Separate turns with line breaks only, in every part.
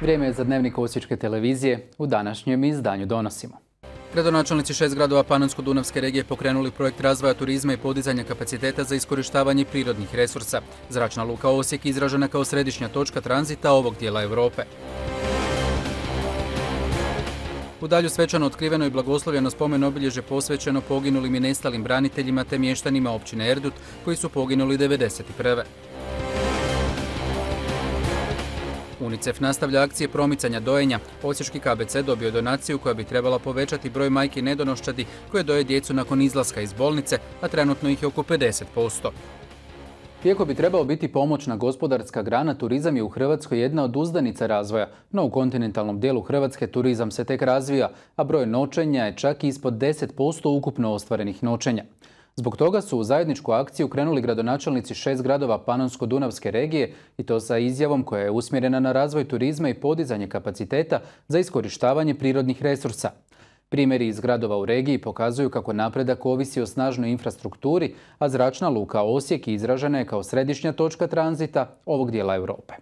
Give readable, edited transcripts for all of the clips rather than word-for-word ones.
Vrijeme je za dnevnik Osječke televizije. U današnjem izdanju donosimo. Gradonačelnici 6 gradova Panonsko-Dunavske regije pokrenuli projekt razvoja turizma i podizanja kapaciteta za iskorištavanje prirodnih resursa. Zračna luka Osijek izražena kao središnja točka tranzita ovog dijela Europe. U Dalju svečano otkriveno i blagoslovljeno spomen obilježje posvećeno poginulim i nestalim braniteljima te mještanima općine Erdut koji su poginuli 1991. UNICEF nastavlja akcije promicanja dojenja. Osječki KBC dobio je donaciju koja bi trebala povećati broj majki nedonoščadi koje doje djecu nakon izlaska iz bolnice, a trenutno ih je oko 50%. Iako bi trebao biti pomoćna gospodarska grana, turizam je u Hrvatskoj jedna od uzdanica razvoja, no u kontinentalnom dijelu Hrvatske turizam se tek razvija, a broj noćenja je čak ispod 10% ukupno ostvarenih noćenja. Zbog toga su u zajedničku akciju krenuli gradonačelnici 6 gradova Panonsko-Dunavske regije i to sa izjavom koja je usmjerena na razvoj turizma i podizanje kapaciteta za iskorištavanje prirodnih resursa. Primjeri iz gradova u regiji pokazuju kako napredak ovisi o snažnoj infrastrukturi, a zračna luka Osijek izražena je kao središnja točka tranzita ovog dijela Europe.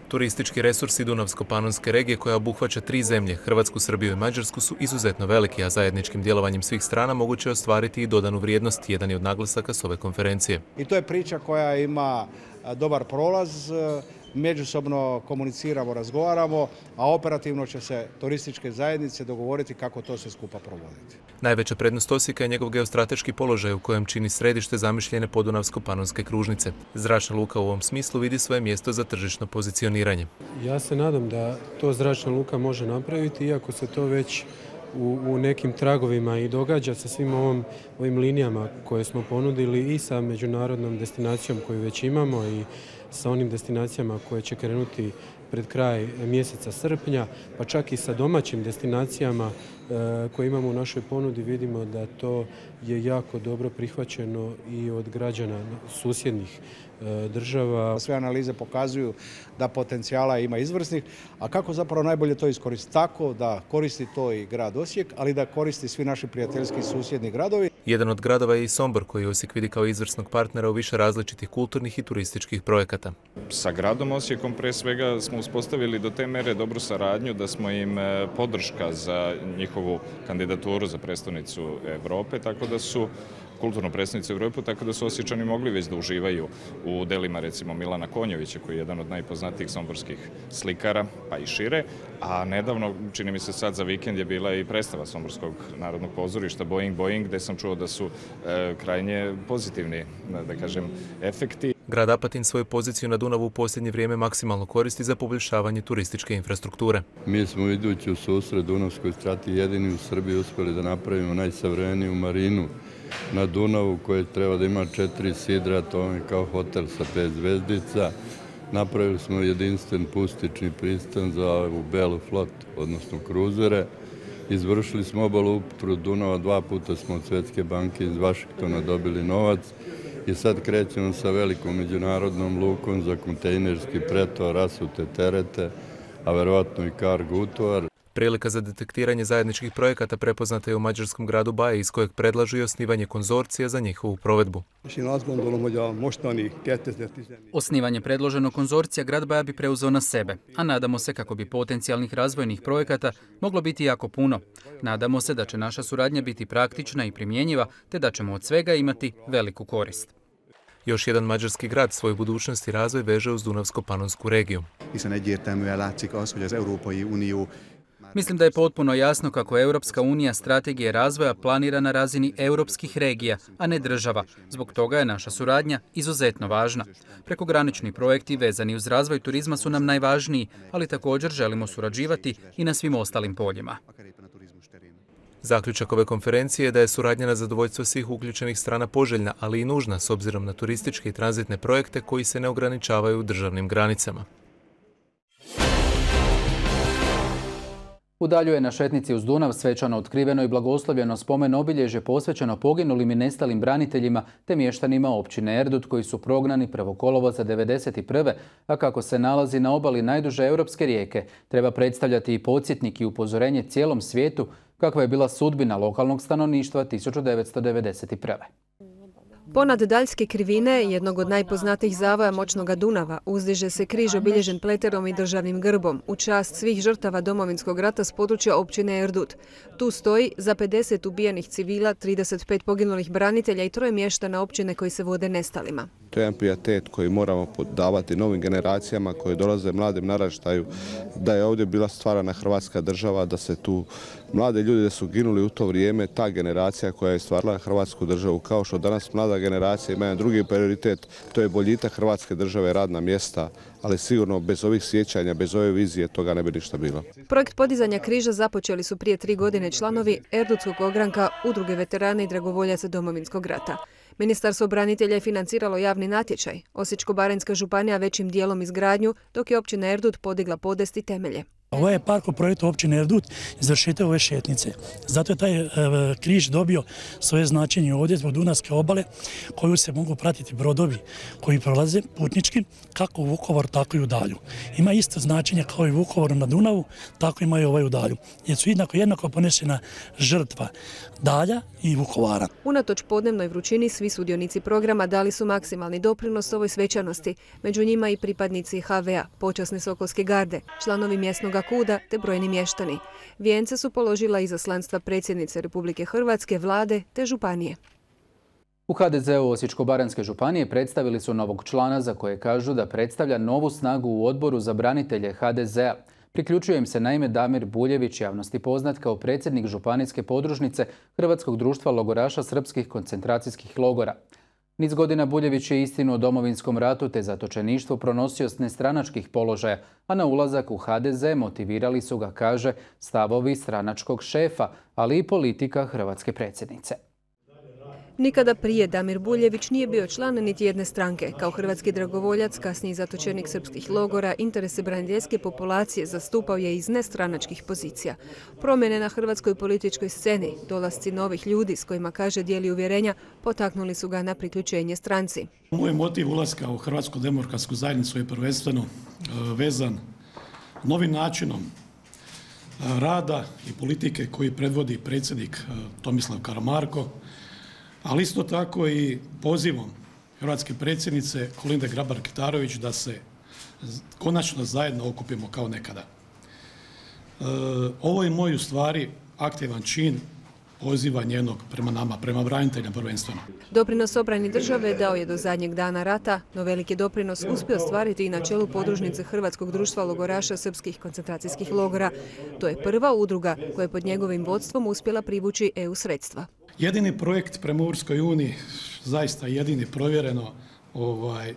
Turistički resursi Dunavsko-Panonske regije koja obuhvaća 3 zemlje, Hrvatsku, Srbiju i Mađarsku, su izuzetno veliki, a zajedničkim djelovanjem svih strana moguće je ostvariti i dodanu vrijednost, jedan je od naglasaka s ove konferencije.
I to je priča koja ima dobar prolaz, međusobno komuniciramo, razgovaramo, a operativno će se turističke zajednice dogovoriti kako to sve skupa provoditi.
Najveća prednost Osijeka je njegov geostrateški položaj u kojem čini središte zamišljene podunavsko-panonske kružnice. Zračna luka u ovom smislu vidi svoje mjesto za tržišno pozicioniranje.
Ja se nadam da to zračna luka može napraviti, iako se to već u nekim tragovima i događa sa svim ovim linijama koje smo ponudili i sa međunarodnom destinacijom koju već imamo i sa onim destinacijama koje će krenuti pred kraj mjeseca srpnja, pa čak i sa domaćim destinacijama koje imamo u našoj ponudi. Vidimo da to je jako dobro prihvaćeno i od građana susjednih država.
Sve analize pokazuju da potencijala ima izvrsnih, a kako zapravo najbolje to iskoristiti? Tako da koristi to i grad Osijek, ali da koristi svi naši prijateljski susjedni gradovi.
Jedan od gradova je i Sombor, koji Osijek vidi kao izvrsnog partnera u više različitih kulturnih i turističkih projekata.
Sa gradom Osijekom pre svega smo uspostavili do te mere dobru saradnju da smo im podrška za njihovu kandidaturu za prestonicu Europe, tako da su kulturnu predstavnicu Europe, tako da su Osječani mogli već da uživaju u delima recimo Milana Konjovića, koji je jedan od najpoznatijih somborskih slikara, pa i šire. A nedavno, čini mi se sad za vikend, je bila i predstava Somborskog narodnog pozorišta Boing Boing, gde sam čuo da su krajnje pozitivni, da kažem, efekti.
Grad Apatin svoju poziciju na Dunavu u posljednje vrijeme maksimalno koristi za poboljšavanje turističke infrastrukture.
Mi smo idući u susret Dunavskoj strati jedini u Srbiji uspjeli da napravimo najsavremeniju marinu na Dunavu koja treba da ima 4 sidra, to je kao hotel sa 5 zvezdica. Napravili smo jedinstven pustični pristan za ovu belu flotu, odnosno kruzere. Izvršili smo obalu upotru Dunava, 2 puta smo od Svjetske banke iz Vašingtona dobili novac i sad krećemo sa velikom međunarodnom lukom za kontejnerski pretovar, rasute terete, a verovatno i kargo utovar.
Prilika za detektiranje zajedničkih projekata prepoznata je u mađarskom gradu Baje, iz kojeg predlažu i osnivanje konzorcija za njihovu provedbu.
Osnivanje predloženog konzorcija grad Baja bi preuzeo na sebe, a nadamo se kako bi potencijalnih razvojnih projekata moglo biti jako puno. Nadamo se da će naša suradnja biti praktična i primjenjiva, te da ćemo od svega imati veliku korist.
Još jedan mađarski grad svoju budućnost i razvoj veže uz Dunavsko-Panonsku regiju.
Mislim da je potpuno jasno kako Europska unija strategije razvoja planira na razini europskih regija, a ne država. Zbog toga je naša suradnja izuzetno važna. Prekogranični projekti vezani uz razvoj turizma su nam najvažniji, ali također želimo surađivati i na svim ostalim poljima.
Zaključak ove konferencije je da je suradnja na zadovoljstvo svih uključenih strana poželjna, ali i nužna s obzirom na turističke i tranzitne projekte koji se ne ograničavaju državnim granicama.
U Dalju je na šetnici uz Dunav svečano otkriveno i blagoslovljeno spomen obilježje posvećeno poginulim i nestalim braniteljima te mještanima općine Erdut koji su prognani 1. kolovoza 1991. a kako se nalazi na obali najduže europske rijeke, treba predstavljati i podsjetnik i upozorenje cijelom svijetu kakva je bila sudbina lokalnog stanovništva 1991.
Ponad Daljske krivine, jednog od najpoznatijih zavoja moćnoga Dunava, uzdiže se križ obilježen pleterom i državnim grbom u čast svih žrtava Domovinskog rata s područja općine Erdut. Tu stoji za 50 ubijenih civila, 35 poginulih branitelja i 3 mještana općine koji se vode nestalima.
To je jedan pijetet koji moramo davati novim generacijama koje dolaze mladim naraštaju, da je ovdje bila stvarana Hrvatska država, da se tu mlade ljudi da su ginuli u to vrijeme, ta generacija koja je stvarala Hrvatsku državu, kao što danas mlada generacija ima jedan drugi prioritet, to je boljitak Hrvatske države, radna mjesta, ali sigurno bez ovih sjećanja, bez ove vizije toga ne bi ništa bilo.
Projekt podizanja križa započeli su prije 3 godine članovi Erdutskog ogranka, Udruge veterana i dragovoljaca Domovinskog rata. Ministarstvo branitelja je financiralo javni natječaj, Osječko-baranjska županija većim dijelom izgradnju, dok je općina Erdut podigla podest i temelje.
Ovo je park u projektu općine Erdut izvršitelj ove šetnice. Zato je taj križ dobio svoje značenje ovdje zbog Dunavske obale koju se mogu pratiti brodovi koji prolaze putnički kako u Vukovaru, tako i u Dalju. Ima isto značenje kao i u Vukovaru na Dunavu, tako ima i ovaj u Dalju. Jer su jednako ponešena žrtva Dalja i Vukovara.
Unatoč podnevnoj vrućini, svi sudionici programa dali su maksimalni doprinos ovoj svečanosti. Među njima i pripadnici HV-a, počasne Sokolske garde, članovi mjesnog KUD-a te brojni mještani. Vijence su položila izaslanstva predsjednice Republike Hrvatske, vlade te županije.
U HDZ-u Osječko-baranjske županije predstavili su novog člana za koje kažu da predstavlja novu snagu u odboru za branitelje HDZ-a. Priključuje im se naime Damir Buljević, javnosti poznat kao predsjednik županijske podružnice Hrvatskog društva logoraša srpskih koncentracijskih logora. Niz godina Buljević je istinu o Domovinskom ratu te zatočeništvo pronosio s nestranačkih položaja, a na ulazak u HDZ motivirali su ga, kaže, stavovi stranačkog šefa, ali i politika hrvatske predsjednice.
Nikada prije Damir Buljević nije bio član niti jedne stranke. Kao hrvatski dragovoljac, kasniji zatočenik srpskih logora, interese braniteljske populacije zastupao je iz nestranačkih pozicija. Promjene na hrvatskoj političkoj sceni, dolasci novih ljudi s kojima, kaže, dijeli uvjerenja, potaknuli su ga na priključenje stranci.
Moj motiv ulaska u Hrvatsku demokratsku zajednicu je prvenstveno vezan novim načinom rada i politike koji predvodi predsjednik Tomislav Karamarko, ali isto tako i pozivom hrvatske predsjednice Kolinde Grabar-Kitarović da se konačno zajedno okupimo kao nekada. Ovo je moj u stvari aktivan čin poziva njenog prema nama, prema braniteljima prvenstveno.
Doprinos obrani države dao je do zadnjeg dana rata, no veliki doprinos uspio ostvariti i na čelu podružnice Hrvatskog društva logoraša srpskih koncentracijskih logora. To je prva udruga koja je pod njegovim vodstvom uspjela privući EU sredstva.
Jedini projekt prema Europskoj uniji, zaista jedini provjereno,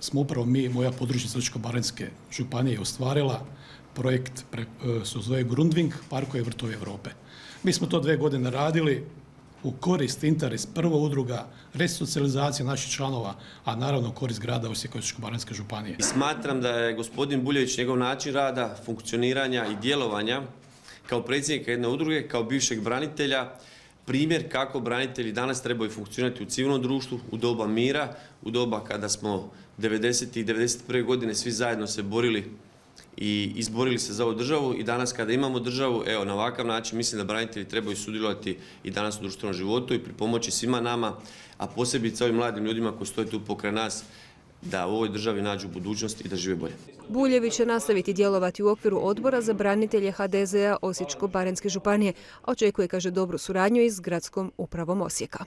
smo upravo mi, moja podružnica Osječko-baranjske županije, ostvarila. Projekt se zove Grundvig, parkovi vrtovi Europe. Mi smo to 2 godine radili u korist, interes, prva udruga, resocijalizacija naših članova, a naravno korist grada Osijeka i Osječko-baranjske županije.
Smatram da je gospodin Buljević, njegov način rada, funkcioniranja i djelovanja kao predsjednika jedne udruge, kao bivšeg branitelja, primjer kako branitelji danas trebaju funkcionirati u civilnom društvu, u doba mira, u doba kada smo 90. i 91. godine svi zajedno se borili i izborili se za ovu državu i danas kada imamo državu, evo na ovakav način mislim da branitelji trebaju sudjelovati i danas u društvenom životu i pripomoći svima nama, a posebice ovim mladim ljudima koji stoje tu pokraj nas, da u ovoj državi nađu budućnost i da žive bolje.
Buljević će nastaviti djelovati u okviru odbora za branitelje HDZ-a Osječko-baranjske županije, a očekuje, kaže, dobru suradnju i s gradskom upravom Osijeka.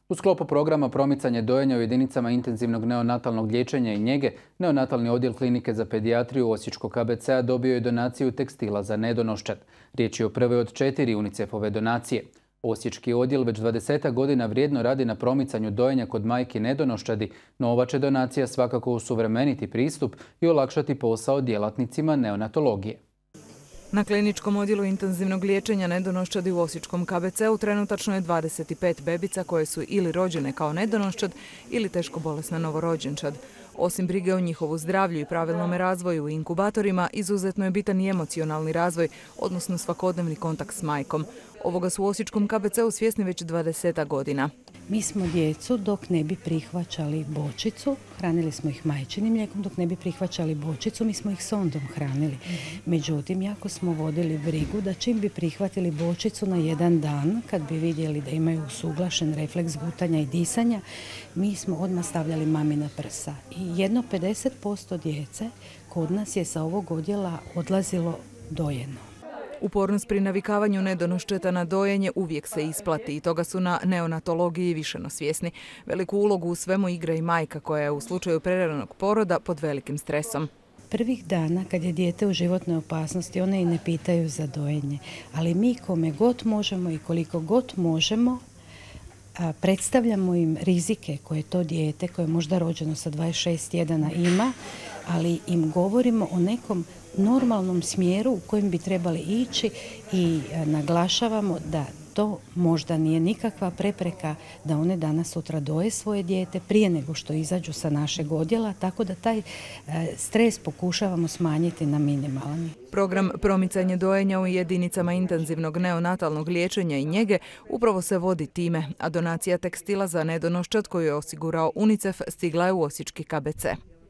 U sklopu programa promicanje dojenja u jedinicama intenzivnog neonatalnog liječenja i njege, neonatalni odjel klinike za pedijatriju Osječkog KBC-a dobio je donaciju tekstila za nedonoščad. Riječ je o prvoj od 4 UNICEF-ove donacije. Osječki odjel već 20 godina vrijedno radi na promicanju dojenja kod majki nedonoščadi, no ova će donacija svakako usuvremeniti pristup i olakšati posao djelatnicima neonatologije.
Na kliničkom odjelu intenzivnog liječenja nedonoščadi u Osječkom KBC-u trenutačno je 25 bebica koje su ili rođene kao nedonoščad ili teško bolesna novorođenčad. Osim brige o njihovu zdravlju i pravilnom razvoju u inkubatorima, izuzetno je bitan i emocionalni razvoj, odnosno svakodnevni kontakt s majkom. Ovoga su u Osječkom KBC-u svjesni već 20 godina.
Mi smo djecu dok ne bi prihvaćali bočicu, hranili smo ih majčinim mlijekom, dok ne bi prihvaćali bočicu, mi smo ih sondom hranili. Međutim, jako smo vodili brigu da čim bi prihvatili bočicu na jedan dan, kad bi vidjeli da imaju usuglašen refleks gutanja i disanja, mi smo odmah stavljali mami na prsa. I jedno 50% djece kod nas je sa ovog odjela odlazilo dojeno.
Upornost pri navikavanju nedonoščeta na dojenje uvijek se isplati i toga su na neonatologiji višeno svjesni. Veliku ulogu u svemu igra i majka koja je u slučaju preranog poroda pod velikim stresom.
Prvih dana kad je dijete u životnoj opasnosti, one i ne pitaju za dojenje, ali mi kome god možemo i koliko god možemo predstavljamo im rizike koje to dijete, koje je možda rođeno sa 26 tjedana ima, ali im govorimo o nekom normalnom smjeru u kojem bi trebali ići i naglašavamo da to možda nije nikakva prepreka da one danas sutra doje svoje dijete prije nego što izađu sa našeg odjela, tako da taj stres pokušavamo smanjiti na minimalni.
Program promicanja dojenja u jedinicama intenzivnog neonatalnog liječenja i njege upravo se vodi time, a donacija tekstila za nedonoščad koju je osigurao UNICEF stigla je u osječki KBC.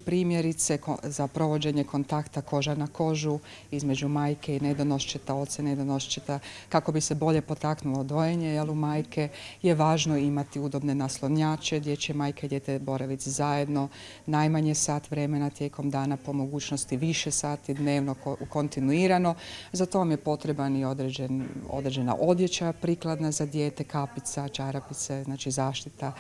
Primjerice za provođenje kontakta koža na kožu između majke i nedonoščeta, oca i nedonoščeta, kako bi se bolje potaknulo dojenje, jer u majke je važno imati udobne naslonjače, gdje će majka i dijete boraviti zajedno najmanje sat vremena tijekom dana, po mogućnosti više sati dnevno kontinuirano. Za to vam je potreban i određena odjeća prikladna za dijete, kapica, čarapice, znači zaštita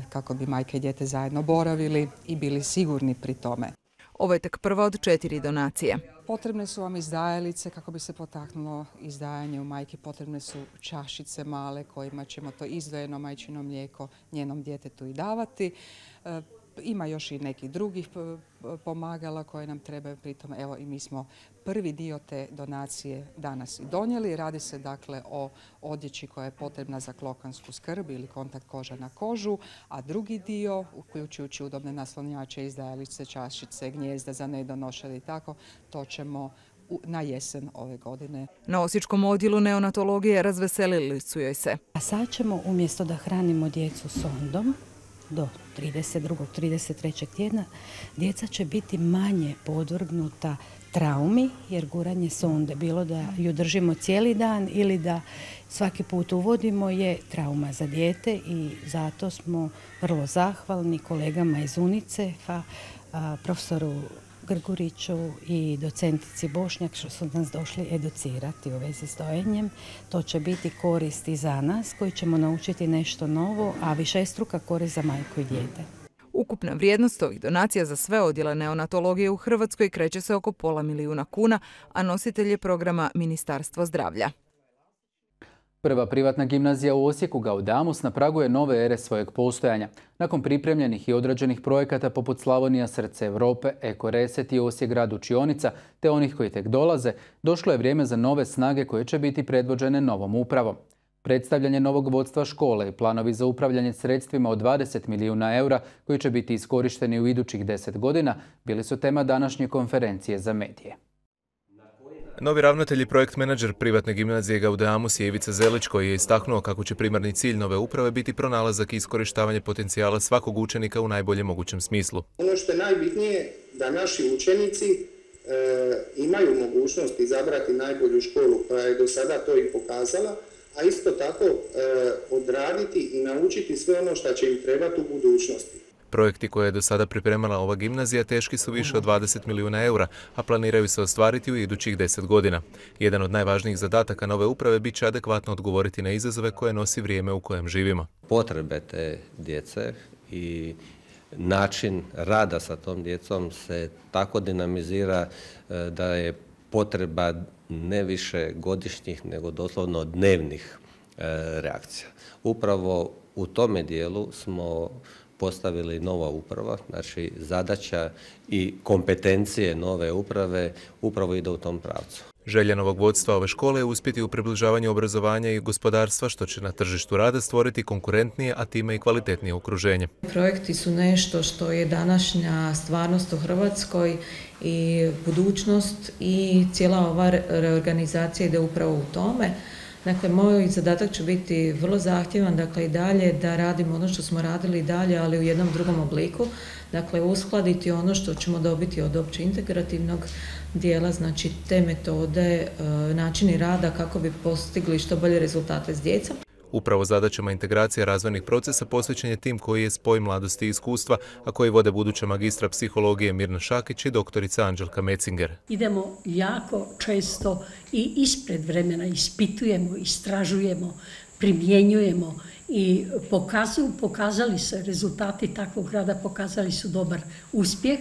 kako bi majka i dijete zajedno boravili i bili sigurni pri tome.
Ovo je tek prva od 4 donacije.
Potrebne su vam izdajalice kako bi se potaknulo izdajanje u majki. Potrebne su čašice male kojima ćemo to izdvojeno majčino mlijeko njenom djetetu i davati. Ima još i nekih drugih pomagala koje nam trebaju, pritom evo i mi smo prvi dio te donacije danas i donijeli. Radi se dakle o odjeći koja je potrebna za klokansku skrb ili kontakt koža na kožu, a drugi dio, uključujući udobne naslonjače, izdajalice, čašice, gnijezda za nedonošad i tako, to ćemo na jesen ove godine.
Na osječkom odjelu neonatologije razveselili su joj se.
A sad ćemo umjesto da hranimo djecu sondom, do 32. 33. tjedna, djeca će biti manje podvrgnuta traumi, jer guranje sonde, bilo da ju držimo cijeli dan ili da svaki put uvodimo, je trauma za dijete i zato smo vrlo zahvalni kolegama iz UNICEF-a, profesoru Grguriću i docentici Bošnjak što su nas došli educirati u vezi s dojenjem. To će biti korist i za nas koji ćemo naučiti nešto novo, a višestruka korist za majku i dijete.
Ukupna vrijednost ovih donacija za sve odjele neonatologije u Hrvatskoj kreće se oko $500 000 kuna, a nositelj je programa Ministarstvo zdravlja.
Prva privatna gimnazija u Osijeku Gaudamus na pragu je nove ere svojeg postojanja. Nakon pripremljenih i odrađenih projekata poput Slavonija srce Europe, Eko Reset i Osijek grad učionica, te onih koji tek dolaze, došlo je vrijeme za nove snage koje će biti predvođene novom upravom. Predstavljanje novog vodstva škole i planovi za upravljanje sredstvima od 20 milijuna eura koji će biti iskorišteni u idućih 10 godina bili su tema današnje konferencije za medije.
Novi ravnatelj i projekt menadžer privatne gimnazije Gaudamus je Ivica Zelić koji je istaknuo kako će primarni cilj nove uprave biti pronalazak i iskorištavanje potencijala svakog učenika u najboljem mogućem smislu.
Ono što je najbitnije da naši učenici imaju mogućnost izabrati najbolju školu koja je do sada to i pokazala, a isto tako odraditi i naučiti sve ono što će im trebati u budućnosti.
Projekti koje je do sada pripremala ova gimnazija teški su više od 20 milijuna eura, a planiraju se ostvariti u idućih 10 godina. Jedan od najvažnijih zadataka nove uprave bit će adekvatno odgovoriti na izazove koje nosi vrijeme u kojem živimo.
Potrebe te djece i način rada sa tom djecom se tako dinamizira da je potreba ne više godišnjih, nego doslovno dnevnih reakcija. Upravo u tome dijelu smo postavili nova uprava, znači zadaća i kompetencije nove uprave upravo ide u tom pravcu.
Želja novog vodstva ove škole je uspjeti u približavanju obrazovanja i gospodarstva, što će na tržištu rada stvoriti konkurentnije, a time i kvalitetnije okruženje.
Projekti su nešto što je današnja stvarnost u Hrvatskoj i budućnost i cijela ova reorganizacija ide upravo u tome Dakle, moj zadatak će biti vrlo zahtjevan, dakle i dalje da radimo ono što smo radili i dalje, ali u jednom drugom obliku. Dakle, uskladiti ono što ćemo dobiti od opće integrativnog dijela, znači te metode, načini rada kako bi postigli što bolje rezultate s djecom.
Upravo zadaćama integracije razvojnih procesa posvećen je tim koji je spoj mladosti i iskustva, a koji vode buduća magistra psihologije Mirna Šakić i doktorica Anđelka Mecinger.
Idemo jako često i ispred vremena, ispitujemo, istražujemo, primjenjujemo i pokazali se rezultati takvog rada, pokazali su dobar uspjeh.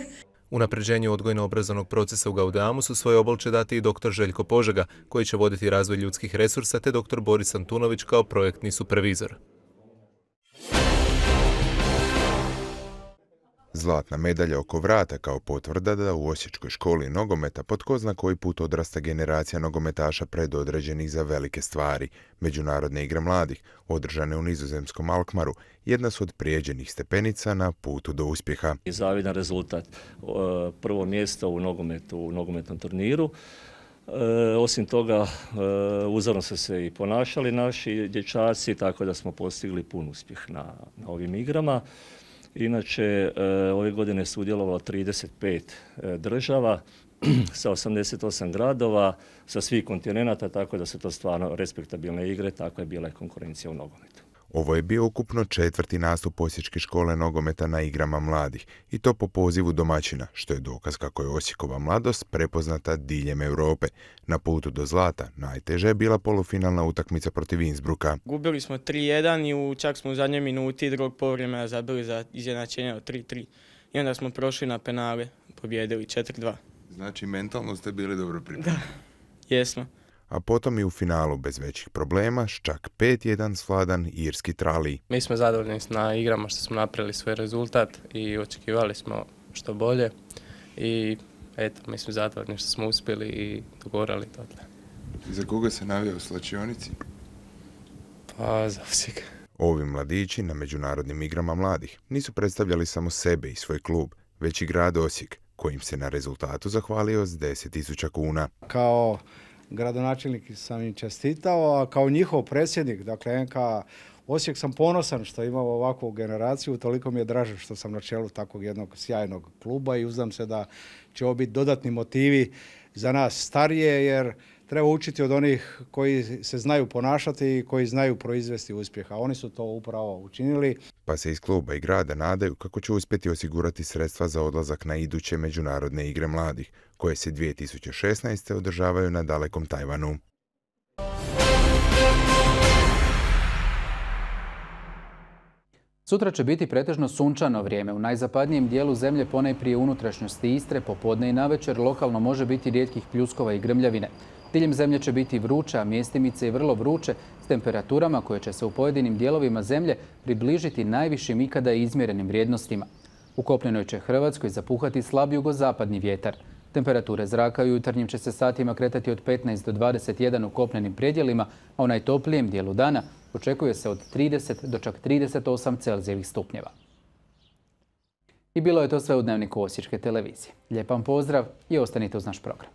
Unapređenju odgojno-obrazovnog procesa u Gaudeamusu svoj obol će dati i dr. Željko Požega, koji će voditi razvoj ljudskih resursa, te dr. Boris Antunović kao projektni supervizor.
Zlatna medalja oko vrata kao potvrda da u Osječkoj školi nogometa po tko zna koji put odrasta generacija nogometaša predodređenih za velike stvari. Međunarodne igre mladih, održane u nizozemskom Alkmaru, jedna su od prijeđenih stepenica na putu do uspjeha.
Zavidan rezultat, prvo mjesto u nogometnom turniru. Osim toga, uzorno su se i ponašali naši dječaci, tako da smo postigli pun uspjeh na ovim igrama. Inače, ove godine je sudjelovalo 35 država sa 88 gradova, sa svih kontinenata, tako da su to stvarno respektabilne igre, tako je bila i konkurencija u nogometu.
Ovo je bio ukupno 4. nastup Osječke škole nogometa na igrama mladih i to po pozivu domaćina, što je dokaz kako je Osijekova mladost prepoznata diljem Europe. Na putu do zlata najteže je bila polufinalna utakmica protiv Innsbrucka.
Gubili smo 3-1 i čak smo u zadnjoj minuti drugog povremena zabili za izjednačenje od 3-3 i onda smo prošli na penale, pobjedili 4-2.
Znači mentalno ste bili dobro pripremljeni.
Da, jesmo.
A potom i u finalu bez većih problema, s čak 5-1 svladan irski Trali.
Mi smo zadovoljni na igrama što smo napravili svoj rezultat i očekivali smo što bolje i eto, mi smo zadovoljni što smo uspjeli i dogorali to.
Za koga se navija u slačionici?
Pa za Osijek.
Ovi mladići na međunarodnim igrama mladih nisu predstavljali samo sebe i svoj klub, već i grad Osijek, kojim se na rezultatu zahvalio s 10.000 kuna.
Kao gradonačelnik sam im čestitao, a kao njihov predsjednik, dakle NK Osijek, sam ponosan što imamo ovakvu generaciju, toliko mi je draže što sam na čelu takvog jednog sjajnog kluba i uzdam se da će ovo biti dodatni motivi za nas starije, jer treba učiti od onih koji se znaju ponašati i koji znaju proizvesti uspjeha. Oni su to upravo učinili.
Pa se iz kluba i grada nadaju kako će uspjeti osigurati sredstva za odlazak na iduće međunarodne igre mladih, koje se 2016. održavaju na dalekom Tajvanu.
Sutra će biti pretežno sunčano vrijeme. U najzapadnijem dijelu zemlje, ponajprije unutrašnjosti Istre, popodne i navečer lokalno može biti rijetkih pljuskova i grmljavine. Diljem zemlje će biti vruće, a mjestimice i vrlo vruće, s temperaturama koje će se u pojedinim dijelovima zemlje približiti najvišim ikada izmjerenim vrijednostima. U kopnenoj će Hrvatskoj zapuhati slab jugozapadni vjetar. Temperature zraka u jutarnjim će se satima kretati od 15 do 21 u kopnenim predjelima, a u najtoplijem dijelu dana očekuje se od 30 do čak 38 Celzijevih stupnjeva. I bilo je to sve u Dnevniku Osječke televizije. Lijep vam pozdrav i ostanite uz naš program.